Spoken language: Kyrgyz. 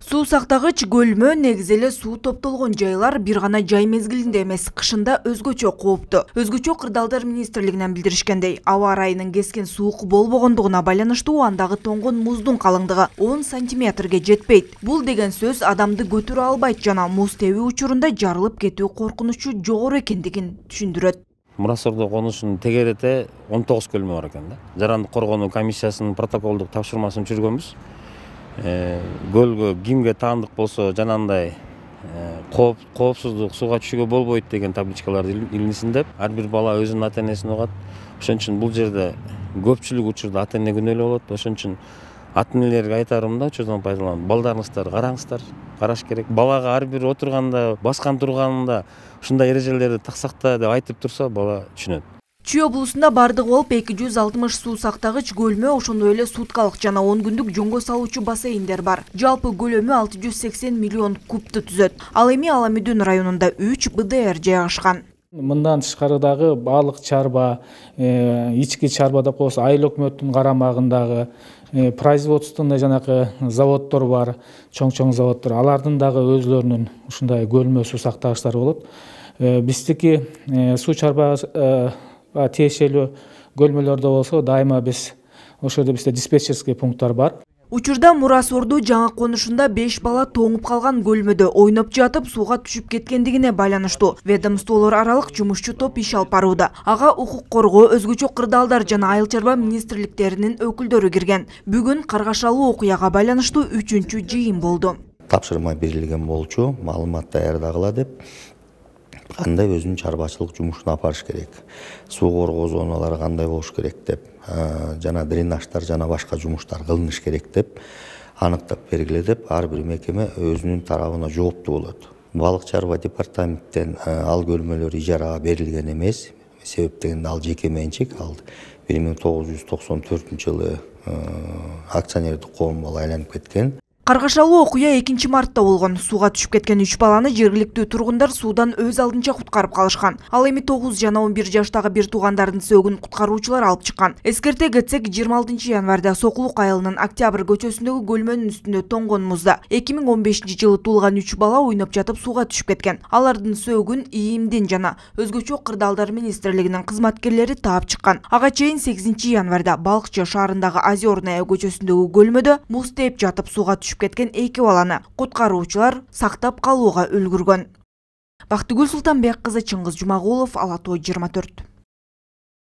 Суу сактагыч көлмө негизи эле суу топтолгон жайлар бир гана жай мезгилинде эмес, кышында өзгөчө кооптуу. Өзгөчө Кырдаалдар министрлигинен билдиришкендей, аба ырайынын кескен суук болбогондугуна байланыштуу андагы тоңгон муздун калыңдыгы 10 сантиметрге жетпейт. Бул деген сөз адамды көтөрө албайт жана муз тебүү учурунда жарылып кетүү коркунучу жогору экендигин түшүндүрөт. Мурасордо конушунун тегеретте 19 көлмө бар экен да. Жарандык коргонуу комиссиясынын протоколдук тапшырмасын түзгөнбүз. Көлгө кимге таандык болсо жанагындай коопсуздук сууга түшүүгө болбойт деген табличкаларды илинсин деп, ар бир бала өзүнүн ата энесин угат. Ошон үчүн бул жерде көпчүлүк учурда ата эне күнөөлүү болот. Ошон үчүн ата энелерге айтарым да, учурдан пайдаланып, балдарыңыздар караңыздар, караш керек. Балага ар бир отурганда, баскан турганында ушундай эрежелерди таксакта деп айтып турса, бала түшүнөт. Чүй облусунда бардыгы болуп 260 суу сактагыч көлмө, ошондой эле суткалык жана 10 күндүк жоңго салуучу бассейндер бар. Жалпы көлөмү 680 миллион кубту түзөт. Ал эми Аламүдүн районунда 3 БДР жайгашкан. Мындан тышкары дагы балык чарба, ички чарба деп коебуз, айыл өкмөттүн карамагындагы производственный жанакы заводдор бар, чоң заводдор. Алардын дагы өзлөрүнүн ушундай көлмө суу сактагычтары болот. Биздики суу чарба тиешелүү көлмөлөрдө болсо дайыма биз ошол жерде бизде диспетчерский пункттар бар. Учурда Мурасорду жаңы конушунда 5 бала тоңуп калган көлмөдө ойноп жатып сууга түшүп кеткендигине байланыштуу ведомстволор аралык жумушчу топ иш алып барууда. Ага укук коргоо, өзгөчө Кырдаалдар жана айыл чарба министрликтеринин өкүлдөрү кирген. Бүгүн каргашалуу окуяга байланыштуу 3-чү жыйын болду. Тапшырма берилген болчу, маалымат даярдагыла деп, кандай өзүнүн чарбачылык жумушун апарыш керек, суу коргоо зоналары кандай болуш керек деп, жана дренаждар жана башка жумуштар кылыныш керек деп аныктап бергиле деп ар бир мекеме өзүнүн тарабына жооптуу болот. Балык чарба департаменттен ал көлмөлөр ижарага берилген эмес, себеп дегенде ал жеке менчик, ал 1994 жылы акционердик коом болуп айланып кеткен. Каргашалуу окуя 2-мартта болгон. Сууга түшүп кеткен 3 баланы жергиликтүү тургундар суудан өз алдынча куткарып калышкан. Ал эми 9 жана 11 жаштагы бир туугандардын сөөгүн куткаруучулар алып чыккан. Эскерте кетсек, 26 январда Сокулук айылынын Октябрь көчөсүндөгү көлмөнүн үстүндө тоңгон музда 2015 жылы туулган 3 бала ойноп жатып сууга түшүп кеткен. Алардын сөөгүн ИИМдин жана өзгөчө Кырдаалдар министрлигинин кызматкерлери таап чыккан. Ага чейин 8 январда Балыкчы шаарындагы Озерная көчөсүндөгү көлмөдө муз тээп жатып сууга түшүп кеткен 2 баланы куткаруучулар сактап калууга үлгүргөн. Бактыгүл Султанбек кызы, Чыңгыз Жумагулов, Ала Тоо 24.